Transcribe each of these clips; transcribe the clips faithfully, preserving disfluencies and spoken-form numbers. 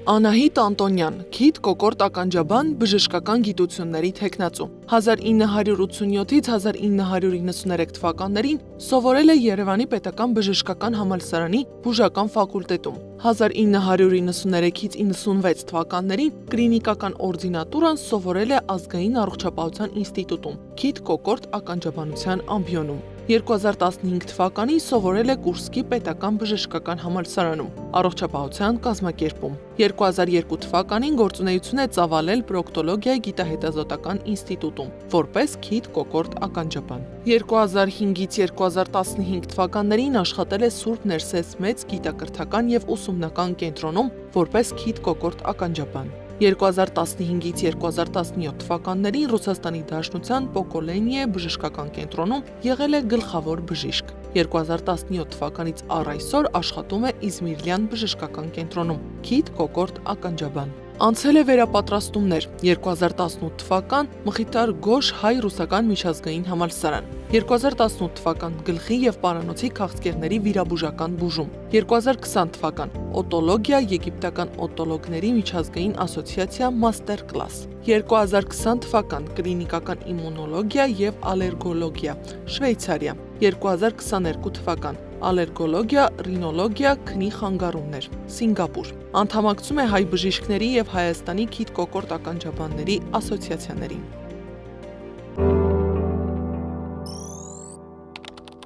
Անահիտ Անտոնյան, քիթ կոկորտ ականջաբան, բժշկական գիտությունների թեկնածու։ հազար ինը հարյուր ութսունյոթից հազար ինը հարյուր իննսուներեք թվականներին սովորել է Երևանի պետական բժշկական համալսարանի բուժական ֆակուլտետում։ հազար ինը հարյուր իննսուներեքից իննսունվեց թվականներին կլինիկական օրդինատուրան սովորել է Ազգային առողջապահության ինստիտուտում, քիթ կոկորտ ականջաբանության ամբիոնում։ երկու հազար տասնհինգ թվականին սովորել է Կուրսկի պետական բժշկական համալսարանում, առողջապահության կազմակերպում։ երկու հազար երկու թվականին գործունեություն է ծավալել պրոկտոլոգիայի գիտահետազոտական ինստիտուտում, որպես քիթ կոկորտ ականջաբան։ երկու հազար հինգից երկու հազար տասնհինգ թվականներին աշխատել է Սուրբ Ներսես Մեծ գիտակրթական և ուսումնական կենտրոնում, որպես քիթ կոկորտ ականջաբան։ երկու հազար տասնհինգից երկու հազար տասնյոթ թվականներին Ռուսաստանի Դաշնության Պոկոլենիե բժշկական կենտրոնում եղել է գլխավոր բժիշկ։ երկու հազար տասնյոթ թվականից առ այսօր աշխատում է Իզմիրլյան բժշկական կենտրոնում, քիթ կոկորտ ականջաբան։ Անցել է վերապատրաստումներ, երկու հազար տասնութ թվական Մխիթար Գոշ հայ-ռուսական միջազգային համալսարան, երկու հազար տասնութ թվական գլխի և պարանոցի քաղցկեղների վիրաբուժական բուժում, երկու հազար քսան թվական օտոլոգիա եգիպտական օտոլոգների միջազգային ասոցիացիա մաստեր կլաս, երկու հազար քսան թվական կլինիկական իմունոլոգիա և ալերգոլոգիա, Շվեյցարիա, երկու հազար քսաներկու թվական ալերգոլոգիա, ռինոլոգիա, քնի խանգարումներ, Սինգապուր։ Անդամակցում է հայ բժիշկների և Հայաստանի քիթ կոկորտ ականջաբանների ասոցիացիաներին։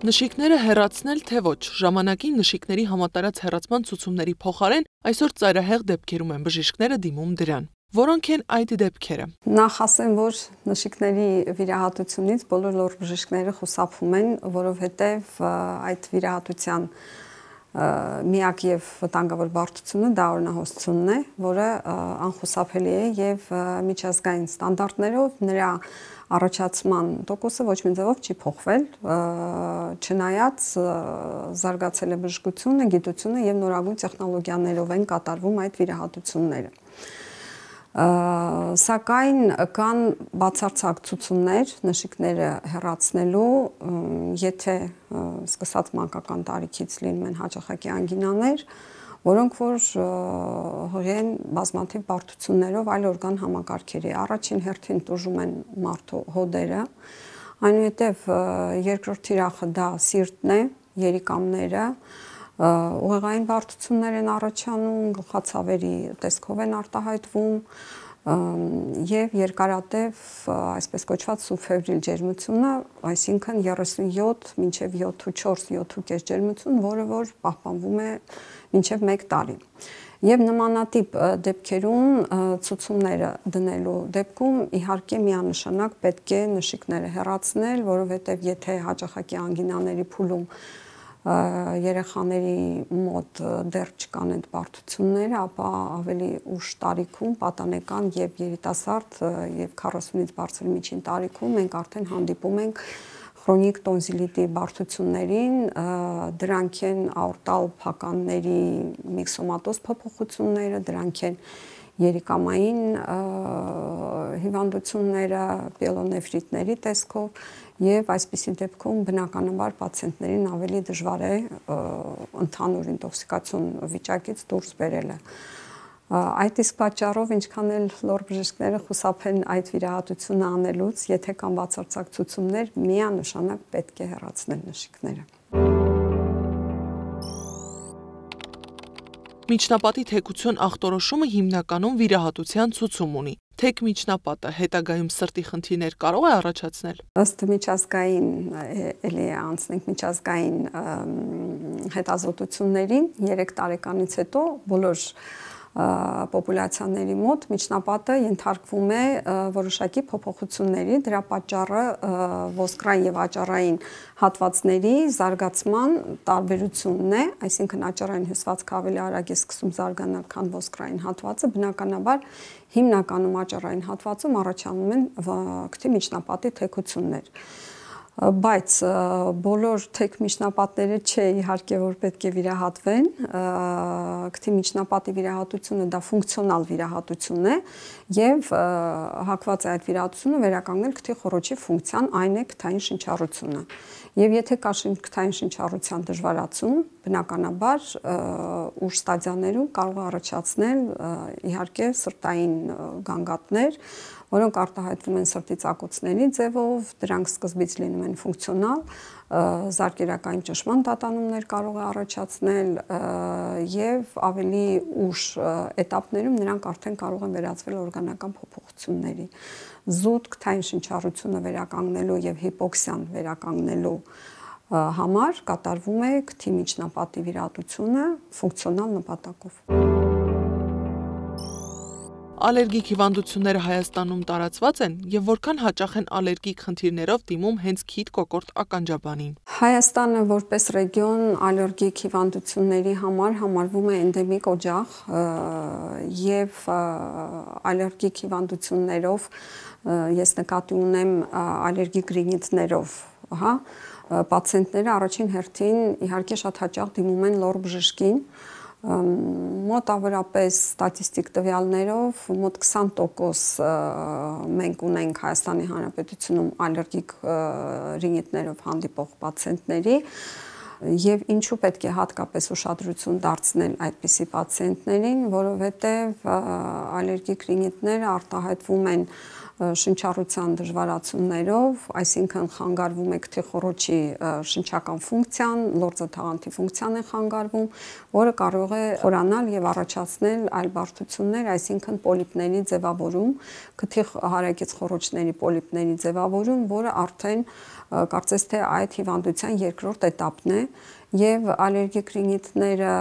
Նշիկները հեռացնել թե ոչ, ժամանակին նշիկների համատարած հեռացման ցուցումների փոխարեն այսօր ծայրահեղ դեպքերում են բժիշկները դիմում դրան։ Որոնք են այդ դեպքերը։ Նախ ասեմ, որ նշիկների վիրահատությունից բոլոր լոր բժիշկները խուսափում են, որովհետև այդ վիրահատության միակ եւ վտանգավոր բարդությունը դա օրինահոսությունն է, որը անխուսափելի է եւ միջազգային ստանդարտներով նրա առաջացման տոկոսը ոչ մի ձևով չի փոխվել, չնայած զարգացել է բժշկությունը, գիտությունը եւ նորագույն տեխնոլոգիաներով են կատարվում այդ վիրահատությունները։ Սակայն կան բացարձակ ցուցումներ նշիկները հեռացնելու, եթե սկսած մանկական տարիքից լինում են հաճախակի անգինաներ, որոնք որ հորեն բազմաթիվ բարդություններով այլ օրգան համակարգերի։ Առաջին հերթին տուժում են մարդու հոդերը, այնուհետև երկրորդ թիրախը դա սիրտն է, երիկամները, ուղեղային բարդություններ են առաջանում, գլխացավերի տեսքով են արտահայտվում եւ երկարատև այսպես կոչված սուբֆեբրիլ ջերմությունը, այսինքն երեսունյոթ մինչեւ յոթ յոթ կես ջերմություն, որը որ պահպանվում է մինչեւ մեկ տարի։ Եվ նմանատիպ դեպքերում ցուցումները դնելու դեպքում իհարկե միանշանակ պետք է նշիկները հեռացնել, որովհետեւ եթե հաճախակի անգինաների փուլում երեխաների մոտ դեռ չկան այդ բարդությունները, ապա ավելի ուշ տարիքում, պատանեկան եւ երիտասարդ եւ քառասունից բարձր միջին տարիքում մենք արդեն հանդիպում ենք քրոնիկ տոնզիլիտի բարդություններին, դրանք են աորտալ փականների միքսոմատոզ փոփոխությունները, դրանք են երիկամային հիվանդությունները, պիելոնեֆրիտների տեսքով եւ այսպիսի դեպքում բնականաբար պացիենտներին ավելի դժվար է ընդհանուր ինտոքսիկացիոն վիճակից դուրս բերելը։ Այդ իսկ պատճառով ինչքան էլ լոր բժիշկները խուսափեն այդ վիրահատությունը անելուց, եթե կան բացարձակ ցուցումներ, միանշանակ պետք է հեռացնել նշիկները։ Միջնապատի թեկություն ախտորոշումը հիմնականում վիրահատության ցուցում ունի։ Թեք միջնապատը հետագայում սրտի խնդիրներ կարող է առաջացնել։ Ըստ միջազգային էլի անցնենք միջազգային հետազոտություններին երեք տարեկանից հետո բոլոր պոպուլյացիաների մոտ միջնապատը ենթարկվում է որոշակի փոփոխությունների, դրա պատճառը ոսկրային եւ աճառային հատվածների զարգացման տարբերությունն է, այսինքն աճառային հյուսվածքը ավելի արագ է սկսում զարգանալ, քան ոսկրային հատվածը, բնականաբար հիմնականում աճառային հատվածում առաջանում են քթի միջնապատի թեքություններ։ Բայց բոլոր թեք միջնապատները չէ իհարկե որ պետք է վիրահատվեն, քթի միջնապատի վիրահատությունը դա ֆունկցիոնալ վիրահատություն է եւ հակված է այդ վիրահատությունը վերականգնել քթի խոռոչի ֆունկցիան, այն է քթային շնչառությունը։ Եվ եթե կա քթային շնչառության դժվարացում, բնականաբար ուշ ստադիաներում կարող է առաջացնել իհարկե սրտային գանգատներ, որոնք արտահայտվում են սրտի ծակոցների ձևով, դրանք սկզբից լինում են ֆունկցիոնալ, զարկերակային ճնշման տատանումներ կարող է առաջացնել եւ ավելի ուշ էտապներում նրանք արդեն կարող են վերածվել օրգանական փոփոխությունների։ Զուտ քթային շնչառությունը վերականգնելու եւ հիպոքսիան վերականգնելու համար կատարվում է քթի միջնապատի վիրահատությունը ֆունկցիոնալ նպատակով։ Ալերգիկ հիվանդությունները Հայաստանում տարածված են եւ որքան հաճախ են ալերգիկ խնդիրներով դիմում հենց քիթ կոկորտ ականջաբանին։ Հայաստանը որպես ռեգիոն ալերգիկ հիվանդությունների համար համարվում է էնդեմիկ օջախ եւ ալերգիկ հիվանդություններով ես նկատի ունեմ ալերգիկ ռինիտներով, ահա, պացիենտները առաջին հերթին իհարկե շատ հաճախ դիմում են լոր բժշկին, մոտավորապես ստատիստիկ տվյալներով մոտ քսան տոկոս մենք ունենք Հայաստանի Հանրապետությունում ալերգիկ ռինիտներով հանդիպող պացիենտների եւ ինչու պետք է հատկապես ուշադրություն դարձնել այդպիսի պացիենտներին, որովհետեւ ալերգիկ ռինիտները արտահայտվում են շնչառության դժվարացումներով, այսինքն խանգարվում է քթի խոռոչի շնչական ֆունկցիան, լորձը թաղանթի ֆունկցիան է խանգարվում, որը կարող է խորանալ եւ առաջացնել այլ բարդություններ, այսինքն պոլիպների ձևավորում, քթի հարակից խոռոչների պոլիպների ձևավորում, որը արդեն կարծես թե այդ հիվանդության երկրորդ էտապն է եւ ալերգիկ ռինիտները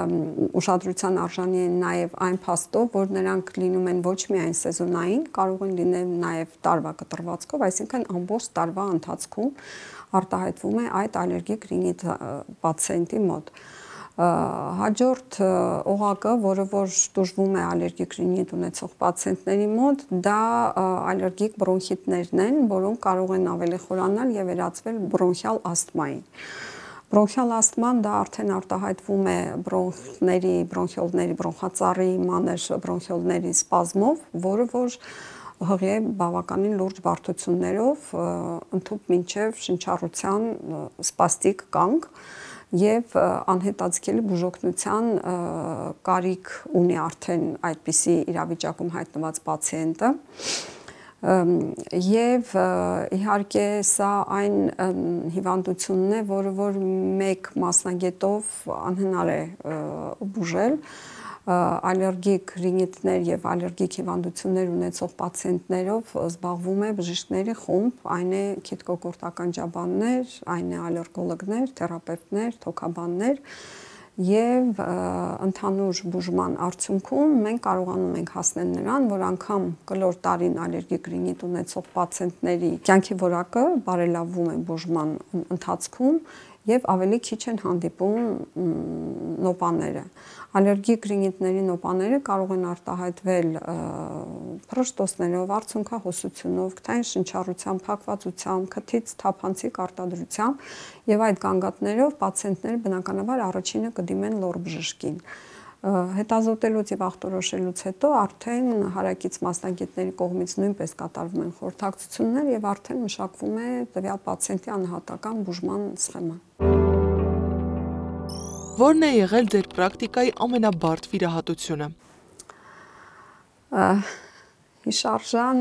ուշադրության արժանի են նաեւ այն փաստով, որ նրանք լինում են ոչ միայն սեզոնային, կարող են լինել նաեւ տարվա կտրվածքով, այսինքն ամբողջ տարվա ընթացքում արտահայտվում է այդ ալերգիկ ռինիտ պացիենտի մոտ։ Հաջորդ օղակը, որը որ տուժվում է ալերգիկ ռինիտ ունեցող պացիենտների մոտ, դա ալերգիկ բրոնխիտներն են, որոնք կարող են ավելի խորանալ եւ վերածվել բրոնխիալ ասթմայի։ Բրոնխիալ ասթման դա արդեն արտահայտվում է բրոնխների, բրոնխիոլների, բրոնխածառի մանր բրոնխիոլների սպազմով, որը որ հղի է բավականին լուրջ բարդություններով, ընդհուպ մինչև շնչառության սպաստիկ կանգ եւ անհետաձգելի բուժօգնության կարիք ունի արդեն այդպիսի իրավիճակում հայտնված պացիենտը։ Եվ իհարկե սա այն հիվանդությունն է, որը որ մեկ մասնագետով անհնար է բուժել, ալերգիկ ռինիտներ եւ ալերգիկ հիվանդություններ ունեցող պացիենտներով զբաղվում է բժիշկների խումբ, այն է քիթ կոկորտ ականջաբաններ, այն է ալերգոլոգներ, թերապևտներ, թոքաբաններ եւ ընդհանուր բուժման արդյունքում մենք կարողանում ենք հասնել նրան, որ անգամ կլոր տարին ալերգիկ ռինիտ ունեցող պացիենտների կյանքի որակը բարելավվում է բուժման ընթացքում եւ ավելի քիչ են հանդիպում նոպաները։ Ալերգիկ ռինիտների նոպաները կարող են արտահայտվել փռշտոցներով, արցունքահոսությունով, քթային շնչառությամբ, փակվածությամբ, քթից թափանցիկ արտադրությամբ եւ այդ գանգատներով պացիենտները բնականաբար առաջինը կդիմեն լոր բժշկին։ Հետազոտելուց եւ ախտորոշելուց հետո արդեն հարակից մասնագետների կողմից նույնպես կատարվում են խորհրդակցություններ եւ արդեն մշակվում է տվյալ պացիենտի անհատական բուժման սխեման։ Որն է եղել ձեր պրակտիկայի ամենաբարդ վիրահատությունը։ Հիշարժան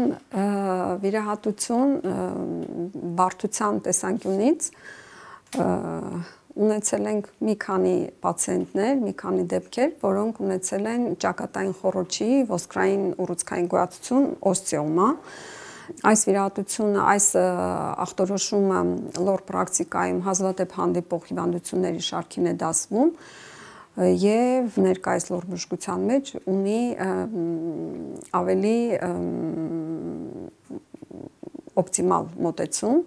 վիրահատություն բարդության տեսանկյունից ունեցել ենք մի քանի պացիենտներ, մի քանի դեպքեր, որոնք ունեցել են ճակատային խոռոչի ոսկրային ուռուցքային գոյացություն օստեոմա։ Այս վիրահատությունը, այս ախտորոշումը լոր պրակտիկայում հազվադեպ հանդիպող հիվանդությունների շարքին է դասվում եւ ներկայիս լոր բժշկության մեջ ունի ավելի օպտիմալ մոտեցում։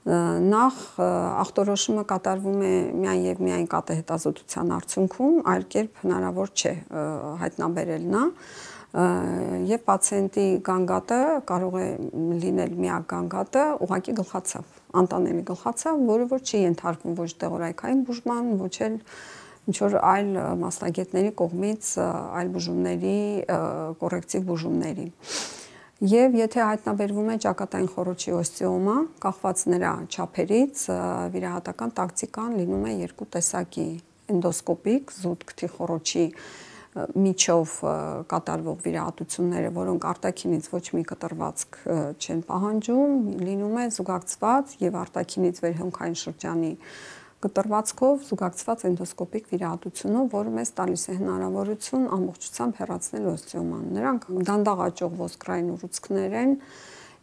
Նախ ախտորոշումը կատարվում է միայն եւ միայն կատեհետազոտության արդյունքում, այլ կերպ հնարավոր չէ հայտնաբերել նա եւ պացիենտի գանգատը կարող է լինել միակ գանգատը ուղղակի գլխացավ։ անտանելի գլխացավ, որը որ չի ենթարկվում ոչ դեղորայքային բուժման, ոչ էլ ինչ որ այլ մասնագետների կողմից այլ բուժումների, կոռեկտիվ բուժումների։ Եվ եթե հայտնաբերվում է ճակատային խոռոչի օստեոմա, կախված նրա չափերից, վիրահատական տակտիկան լինում է երկու տեսակի՝ էնդոսկոպիկ, զուտ քթի խոռոչի միջով կատարվող վիրահատությունները, որոնք արտաքինից ոչ մի կտրվածք չեն պահանջում, լինում է զուգակցված եւ արտաքինից վերհոնքային շրջանի կտրվածքով զուգակցված էնդոսկոպիկ վիրահատությունով, որը մեզ տալիս է հնարավորություն ամբողջությամբ հեռացնել օստեոման։ Նրանք դանդաղ աճող ոսկրային ուռուցքներ են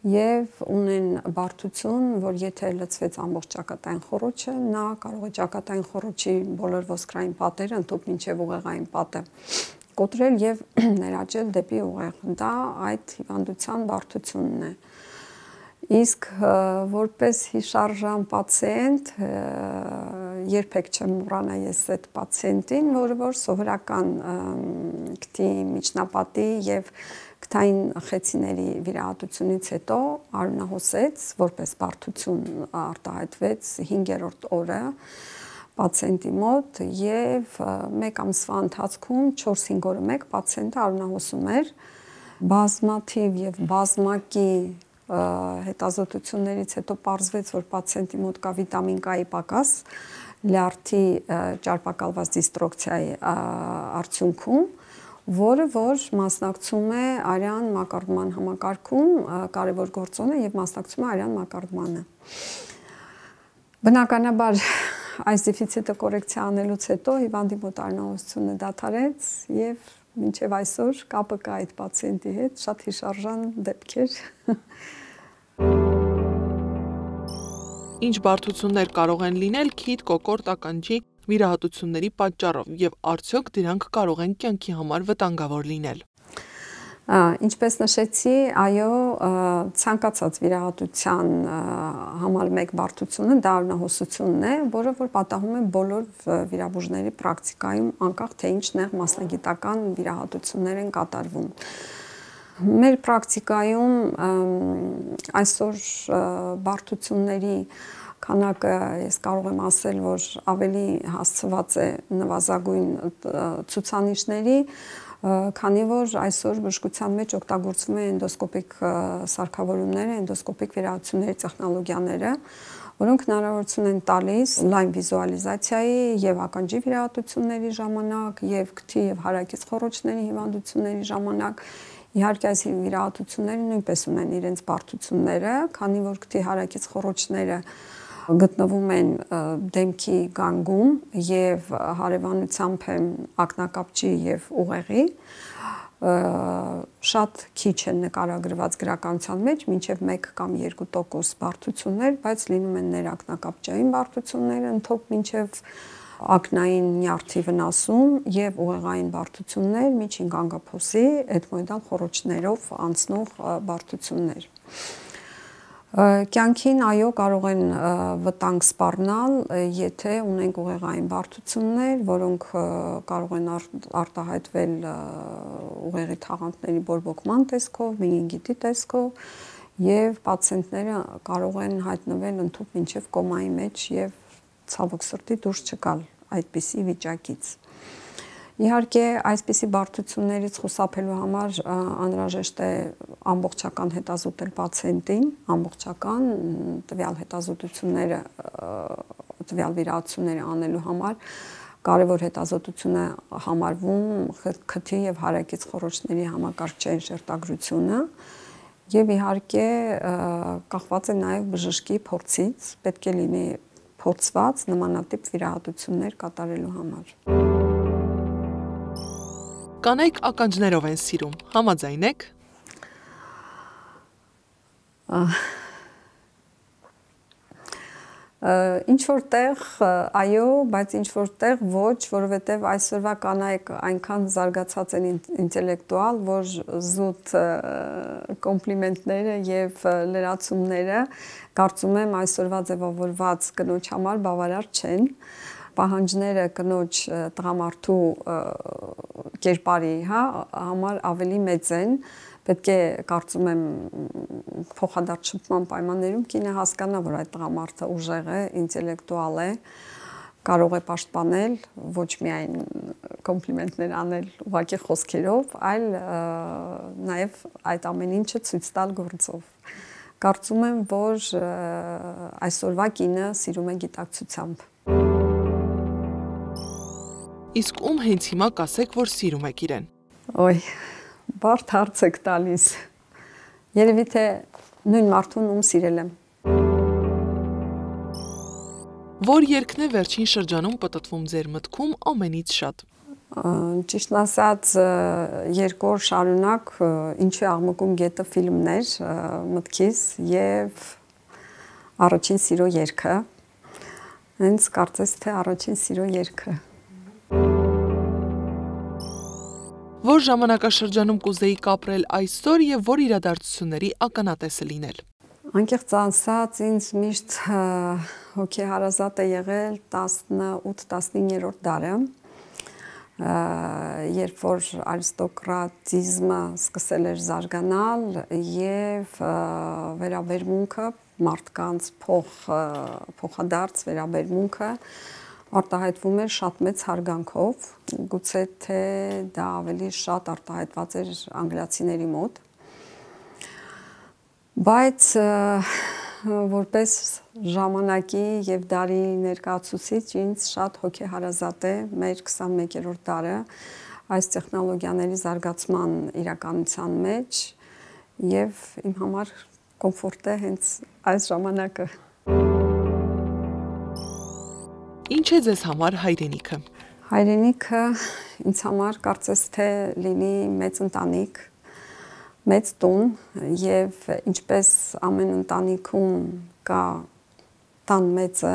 եւ ունեն բարդություն, որ եթե լցվեց ամբողջ ճակատային խոռոչը, նա կարող է ճակատային խոռոչի բոլոր ոսկրային պատերը ընդհանուր մինչեւ ուղեղային պատը կոտրել եւ ներաճել դեպի ուղեղ։ Դա այդ հիվանդության բարդությունն է։ Իսկ որպես հիշարժան պացիենտ երբեք չեմ մոռանա ես այդ պացիենտին, որը որ սովորական քթի միջնապատի եւ քթային խեցիների վիրահատությունից հետո արյունահոսեց, որպես բարդություն արտահայտվեց հինգերորդ օրը պացիենտի մոտ եւ մեկ ամսվա ընթացքում չորս-հինգ օրը մեկ պացիենտը արյունահոսում էր, բազմաթիվ եւ բազմակի հետազոտություններից հետո պարզվեց, որ պացիենտի մոտ կա վիտամին K-ի պակաս լյարդի ճարպակալված դիստրոկցիայի արդյունքում, որը որ մասնակցում է արյան մակարդման համակարգում, կարևոր գործոն է եւ մասնակցում է արյան մակարդմանը։ Բնականաբար այս դեֆիցիտը կոռեկցիա անելուց հետո հիվանդի մոտ արյունահոսությունը դադարեց եւ մինչև այսօր կապը կա այդ պացիենտի հետ, շատ հիշարժան դեպքեր։ Ինչ բարդություններ կարող են լինել քիթ կոկորտ ականջի վիրահատությունների պատճառով եւ արդյոք դրանք կարող են կյանքի համար վտանգավոր լինել։ Ինչպես նշեցի, այո, ցանկացած վիրահատության համար մեկ բարդությունը դա արյունահոսությունն է, որը որ պատահում է բոլոր վիրաբուժների պրակտիկայում, անկախ թե ինչ նեղ մասնագիտական վիրահատություններ են կատարվում։ Մեր պրակտիկայում այսօր բարդությունների քանակը ես կարող եմ ասել, որ ավելի հասցված է նվազագույն ցուցանիշների, քանի որ այսօր բժշկության մեջ օգտագործվում է էնդոսկոպիկ սարքավորումները, էնդոսկոպիկ վիրահատությունների տեխնոլոգիաները, որոնք հնարավորություն են տալիս լայն վիզուալիզացիայի եւ ականջի վիրահատությունների ժամանակ, եւ քթի եւ հարակից խոռոչների հիվանդությունների ժամանակ։ Իհարկե այս վիրահատությունները նույնպես ունեն իրենց բարդությունները, քանի որ քթի հարակից խոռոչները գտնվում են դեմքի գանգում եւ հարևանությամբ են ակնակապճի եւ ուղեղի, շատ քիչ են նկարագրված գրականության մեջ, մինչեւ մեկ կամ երկու տոկոս բարդություններ, բայց լինում են ներակնակապճային բարդություններ, ընդհանուր մինչեւ ակնային նյարդի վնասում եւ ուղեղային բարդություններ, միջին գանգափոսի էդմոիդալ խոռոչներով անցնող բարդություններ։ Կյանքին այո կարող են վտանգ սպառնալ, եթե ունենք ուղեղային բարդություններ, որոնք կարող են արտահայտվել ուղեղի թաղանթների բորբոքման տեսքով, մենինգիտի տեսքով եւ պացիենտները կարող են հայտնվել ընդհանուր մինչեւ կոմայի մեջ եւ ցավոք սրտի դուրս չգալ այդպիսի վիճակից։ Իհարկե, այսպիսի բարդություններից խուսափելու համար անհրաժեշտ է ամբողջական հետազոտել պացիենտին, ամբողջական տվյալ հետազոտությունները, տվյալ վիրահատությունները անելու համար կարևոր հետազոտություն է համարվում քթի եւ հարակից խոռոչների համակարգչային շերտագրությունը եւ իհարկե կախված է նաեւ բժշկի փորձից, պետք է լինի փորձված նմանատիպ վիրահատություններ կատարելու համար։ Կանայք ականջներով են սիրում, համաձայն եք։ Ինչ որտեղ այո, բայց ինչ որտեղ ոչ, որովհետև այսօրվա կանայք այնքան զարգացած են ինտելեկտուալ, որ զուտ կոմպլիմենտները եւ լրացումները կարծում եմ այսօրվա ձևավորված կնոջ համար բավարար չեն։ պահանջները կնոջ տղամարդու կերպարի, հա, համար ավելի մեծ են, պետք է կարծում եմ փոխադարձ շփման պայմաններում կինը հասկանա, որ այդ տղամարդը ուժեղ է, ինտելեկտուալ է, կարող է պաշտպանել, ոչ միայն կոմպլիմենտներ անել ուղղակի խոսքերով, այլ նաև այդ ամեն ինչը ցույց տալ գործով։ Կարծում եմ, որ այսօրվա կինը սիրում է գիտակցությամբ։ Իսկ ում հենց հիմա կասեք, որ սիրում եք իրեն։ Ոյ, բարդ հարց եք տալիս։ Երևի թե նույն մարդուն ում սիրել եմ։ Որ երգն է վերջին շրջանում պտտվում ձեր մտքում ամենից շատ։ Ճիշտն ասած, երկու օր շարունակ Ինչու է աղմկում գետը ֆիլմն էր մտքիս եւ Առաջին սիրո երգը։ Հենց կարծես թե Առաջին սիրո երգը։ Որ ժամանակաշրջանում կուզեիք ապրել այսօր եւ որ իրադարձությունների ականատեսը լինել։ Անկեղծ ասած, ինձ միշտ հոգեհարազատ է եղել տասնութ տասնիններորդ դարը, երբ որ արիստոկրատիզմը սկսել էր զարգանալ եւ վերաբերմունքը մարդկանց փոխ փոխադարձ վերաբերմունքը արտահայտվում էր շատ մեծ հարգանքով, գուցե թե դա ավելի շատ արտահայտված էր անգլիացիների մոտ։ Բայց որպես ժամանակի եւ դարի ներկայացուցիչ ինձ շատ հոգեհարազատ է մեր քսանմեկերորդ դարը այս տեխնոլոգիաների զարգացման իրականության մեջ եւ իմ համար կոմֆորտ է հենց այս ժամանակը։ Ինչ է ձեզ համար հայրենիքը։ Հայրենիքը ինձ համար կարծես թե լինի մեծ ընտանիք, մեծ տուն եւ ինչպես ամեն ընտանիքում կա տան մեծը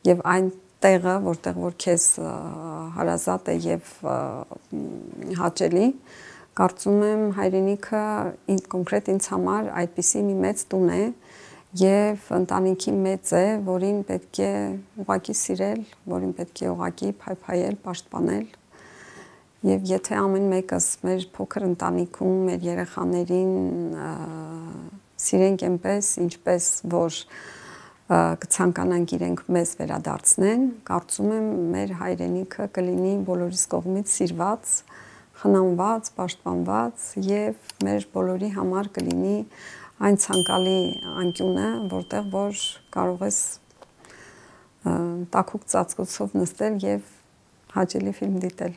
եւ այն տեղը, որտեղ որ քեզ հարազատ է եւ հաճելի, կարծում եմ հայրենիքը կոնկրետ ինձ համար այդպիսի մի մեծ տուն է եւ ընտանիքի մեծ է, որին պետք է ուղղակի սիրել, որին պետք է ուղղակի փայփայել, պաշտպանել։ Եվ եթե ամեն մեկս մեր փոքր ընտանիքում մեր երեխաներին սիրենք այնպես, ինչպես որ կցանկանանք իրենք մեզ վերադարձնեն, կարծում եմ մեր հայրենիքը կլինի բոլորիս կողմից սիրված, խնամված, պաշտպանված եւ մեր բոլորի համար կլինի այն ցանկալի անկյունը, որտեղ որ կարող ես տաքուկ ծածկոցով նստել եւ հաճելի ֆիլմ դիտել։